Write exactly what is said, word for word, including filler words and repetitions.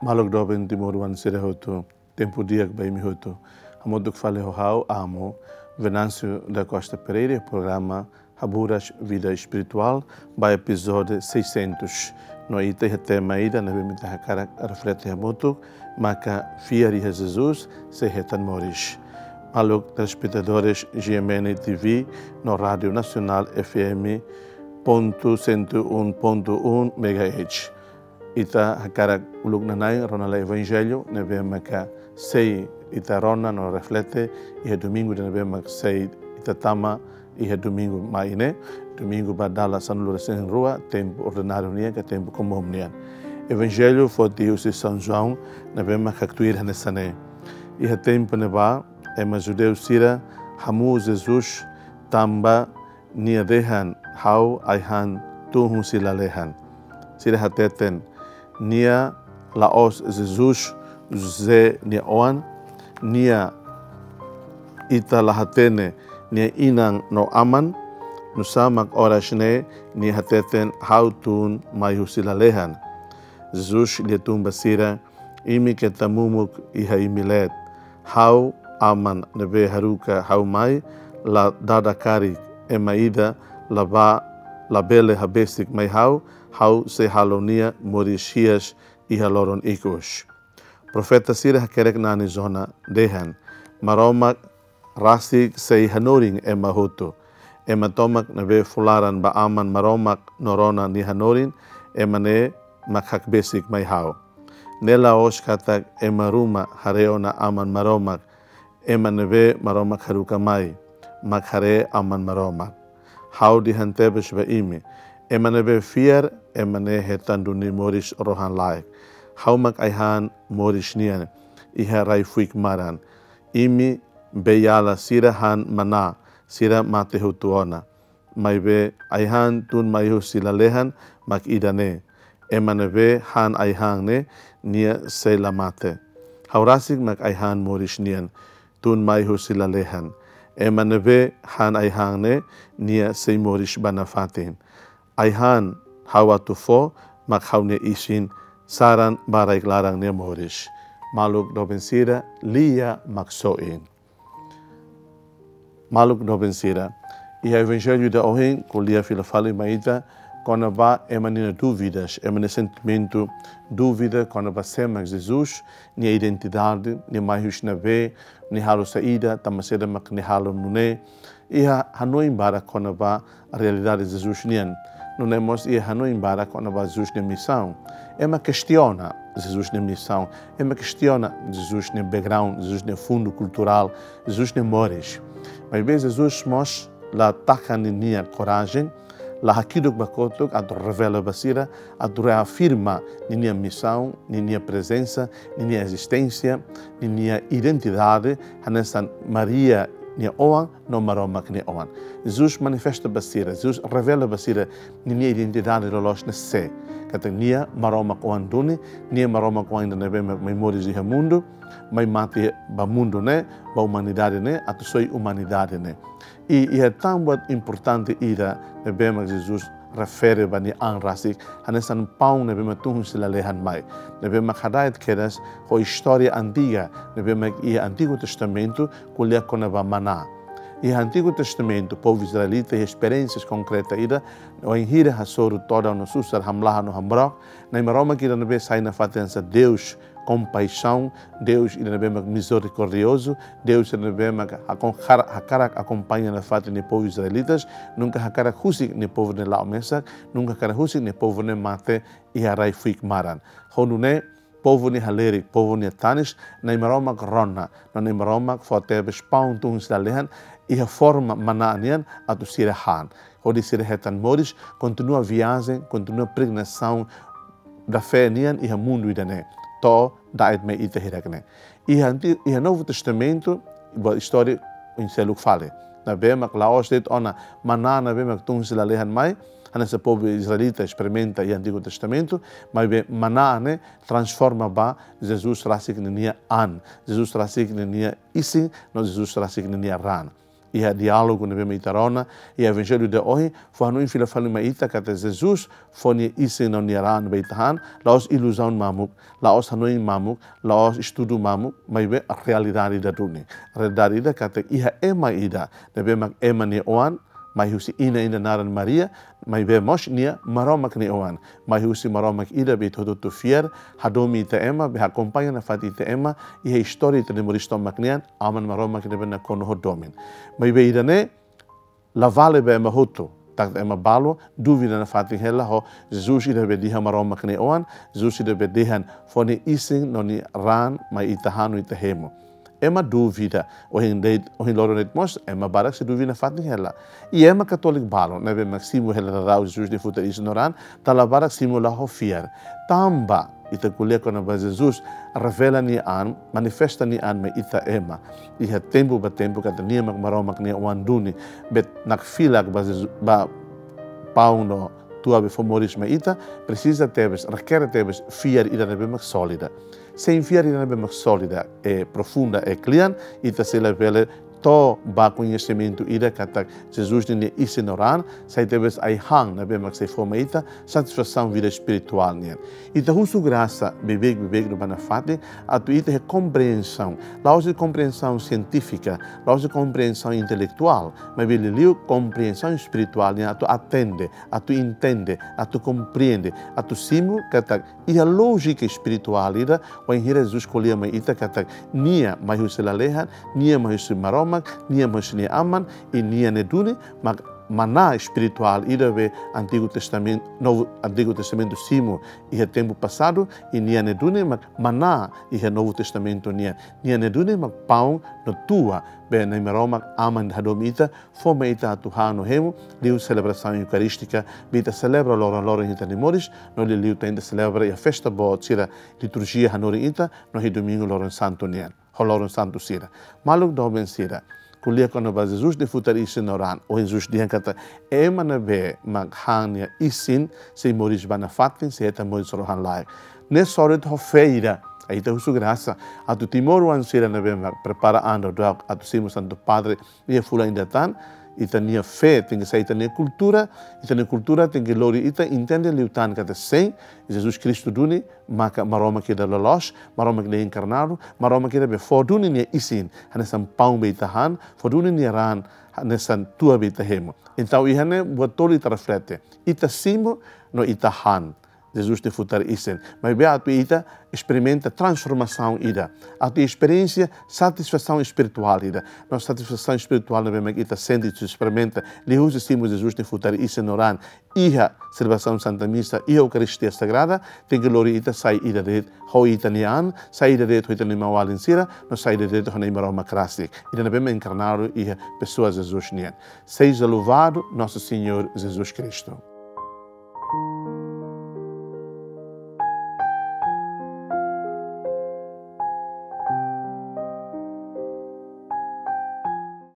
Maluk doben timoroan sira hotu, tempu di'ak ba imi hotu. Hamutuk fali ho ha'u, Amo Venâncio da Costa Pereira, programa Haburas Vida Espirituál, ba epizódiu seiscentos. No ita iha tema ida ne'ebé mak ita hakarak reflete hamutuk, maka fiar iha Jesus sei hetan moris. Maluk telespetadores G M N T V no Rádio Nacional F M ponto cento e um ponto um megahertz. Ita hakarak uluk nana'in rona lai Evanjellu ne'ebé maka sei ita rona no reflete iha domingu ida ne'ebé mak sei ita tama iha domingu mai ne'e, domingu ba dala sanulu-resin-rua tempu ordináriu nian ka tempu komún nian. Evanjellu foti husi São João ne'ebé mak haktuir hanesan ne'e: Iha tempu ne'ebá, ema judeu sira hamu'u Jesus tanba nia dehan: Ha'u ai-han tun husi lalehan. Sira hateten: Nia la'ós Jesus, José nia oan? Nia, ita la hatene nia inan no aman? Nusá mak oras ne'e nia hateten: Ha'u tun mai husi lalehan? Jesus lia tun ba sira: Imi keta mumuk iha imi leet. Ha'u Aman ne'ebé haruka ha'u mai, la dada karik, ema ida la ba, la bele habesik mai ha'u, ha'u sei halo nia moris hi'as iha loron ikus. Profeta sira hakerek nani Jona dehan: Maromak rasik sei hanorin ema hotu. Ema tomak ne'ebé fó laran ba Aman Maromak no rona nia hanorin, ema ne'e mak hakbesik mai ha'u. Ne'e la'ós katak ema ruma haree ona Aman Maromak, ema ne'ebé Maromak haruka mai mak haree Aman Maromak. Ha'u dehan tebes ba imi: ema ne'ebé fiar, ema ne'e hetan duni moris rohan-laek. Ha'u mak ai-han moris nian iha rai-fuik maran. Imi beiala sira han maná, sira mate hotu ona. Maibé ai-han tun mai husi lalehan mak ida-ne'e: ema ne'ebé han ai-han ne'e, nia sei la mate. Ha'u rasik mak ai-han moris nian tun mai husi lalehan. Ema ne'ebé han ai-han ne'e, nia sei moris ba nafatin. Ai-han ha'u atu fó mak ha'u-nia isin, saran ba rai-klaran nia moris. Maluk doben sira, lia Maksoin. Maluk doben sira, iha Evanjellu ida ohin ko'alia fila fali mai ita kona-ba ema nia dúvidas, ema nia sentimentu dúvida kona-ba sé mak Jesus, nia identidade, nia mai husi ne'ebé, nia halo saida, tanba saida mak nia halo nune'e. Iha hanoin barak kona-ba realidade Jesus nian. Nune'e mós iha hanoin barak kona-ba Jesus nia misaun. Ema kestiona Jesus nia misaun, ema kestiona Jesus nia background, Jesus nia fundu kulturál, Jesus nia moris. Maibé Jesus mós la taka ninia korajen, la hakiduk ba kotuk atu revela ba sira, atu reafirma ninia misaun, ninia prezensa, ninia ezisténsia, ninia identidade, hanesan Maria nia oan no Maromak nia oan. Jesus manifesta ba sira, Jesus revela ba sira ninia identidade loloos ne'e sé. Katak nia Maromak oan duni, nia Maromak oan ida ne'ebé mai moris iha mundu, mai mate ba mundu ne'e, ba umanidade ne'e, atu soi umanidade ne'e. I iha tan buat importante ida ne'ebé mak Jesus refere ba nia an rasik, hanesan paun ne'ebé mak tun husi lalehan mai. Ne'ebé mak hada'et kedas ho istória antiga, ne'ebé mak iha Antigu Testamentu, ko'alia kona-ba maná. Iha Antigu Testamentu, povu israelita iha esperiénsias konkreta ida, wainhira hasoru todan no susar, hamlaha no hambrok, Na'i Maromak ida ne'ebé sai nafatin hanesan Deus kompaixaun, Deus ida ne'ebé mak mizerikordiozu, Deus ida ne'ebé mak hakon-, har-, hakarak akompaña nafatin nia povu israelitas, nunka hakarak husik nia povu ne'e la'o mesak, nunka hakarak husik nia povu ne'e mate iha rai-fuik maran. Ho nune'e, povu ne'e halerik, povu ne'e tanis, Na'i Maromak rona, no Na'i Maromak fó tebes paun tun husi lalehan, iha forma maná nian atu sira han. Hodi sira hetan moris, kontinua viajen, kontinua peregrinasaun da fé nian iha mundu ida-ne'e. To'o da'et mai ita hirak ne'e. Iha Anti-, iha Novu Testamentu, buat istória oin seluk fali. Ne'ebé mak la'ós de'it ona maná ne'ebé mak tun husi lalehan mai, hanesan povu israelita esperimenta iha Antigu Testamentu, maibé maná ne'e transforma ba Jesus rasik ninia an, Jesus rasik ninia isin, no Jesus rasik ninia raan. iha diálogu ne'ebé mak ita rona iha Evanjellu ida ohin, fó hanoin fila fali mai ita katak Jesus fó nia isin no nia raan ba ita han, la'ós iluzaun mamuk, la'ós hanoin mamuk, la'ós estudu mamuk, maibé realidade ida duni. Realidade ida katak iha ema ida ne'ebé mak ema nia oan, mai husi inan ida naran Maria, maibé mós nia Maromak nia oan, mai husi Maromak ida be ita hotu-hotu fiar, hadomi ita ema, be akompaña nafatin ita ema iha istória ita-nia moris tomak nian, Aman Maromak ne'ebé nakonu ho domin. Maibé ida-ne'e la vale ba ema hotu, tanba ema balu dúvida nafatin hela ho Jesus ida be dehan Maromak nia oan, Jesus ida be dehan fó nia isin no nia raan mai ita han no ita hemu. Ema dúvida, ohin de'it, ohin loron de'it mós, ema barak sei dúvida nafatin hela. I ema katóliku balu ne'ebé mak simu hela daudaun Jesus nia futar isin no raan, dala barak simu la ho fiar. Tanba ita ko'alia kona-ba Jesus, revela nia an, manifesta nia an mai ita ema. Iha tempu ba tempu katak nia mak Maromak nia oan duni, be nakfilak ba Jesus, ba paun no tua be fó moris mai ita, presiza tebes, rekere tebes fiar ida ne'ebé mak sólida. Sein fiar ida ne'ebé mak sólida, e profunda, e kle'an, ita sei labele to'o ba koñesimentu ida katak Jesus nia isin no raan sai tebes ai-han ne'ebé mak sei fó mai ita satisfasaun vida espirituál nian. Ita husu grasa beibeik-beibeik no ba nafatin atu ita iha komprensaun, la'ós komprensaun sientífika, la'ós komprensaun intelektuál, maibé liuliu komprensaun espirituál nian atu atende, atu entende, atu komprende, atu simu katak iha lójika espirituál ida, wainhira Jesus ko'alia mai ita katak nia mai husi lalehan, nia mai husi Maromak, nia mai husi nia Aman, i nia ne'e duni mak maná espirituál ida be Antigu Testamentu, Novu, Antigu Testamentu simu iha tempu pasadu, i nia ne'e duni mak maná iha Novu Testamentu nian. Nia ne'e duni mak paun no tua be Nai Maromak Aman hadomi ita, fó mai ita atu han no hemu, liu selebrasaun eukarístika be ita selebra loron-loron ita-nia moris, no liuliu tan ita selebra iha festa boot sira, liturjia hanorin ita no iha Domingu Loron Santu nian, ho loron santu sira. Maluk doben sira, ko'alia kona-ba Jesus nia futar isin no raan, ohin Jesus dehan katak ema ne'ebé mak han nia isin sei moris ba nafatin, sei hetan moris rohan-laek. Ne'e sorit ho fé ida, ita husu grasa atu timoroan sira ne'ebé mak prepara an daudauk atu simu Santu Padre iha fulan ida tan, ita-nia fé tenke sai ita-nia kultura, ita-nia kultura tenke lori ita entende liután katak sein, Jesus Kristu duni maka Maromak ida loloos, Maromak ida enkarnadu, Maromak ida be fó duni nia isin hanesan paun be ita han, fó duni nia raan hanesan tua be ita hemu. Entaun iha ne'e buat tolu ita reflete. Ita simu no ita han Jesus nia futar isin. Maibé atu ita esperimenta transformasaun ida, atu esperiénsia satisfasaun espirituál ida. No satisfasaun espirituál ne'ebé mak ita sente, ita esperimenta liuhusi simu Jesus nia futar isin no raan iha selebrasaun Santa Misa, iha Eukaristia Sagrada, tenke lori ita sai ida de'it ho ita-nia an, sai ida de'it ho ita-nia maun-alin sira, no sai ida de'it ho Nai Maromak rasik, ida ne'ebé mak enkarnadu iha pesoa Jesus nian. Seja louvado Nosso Senhor Jesus Cristo.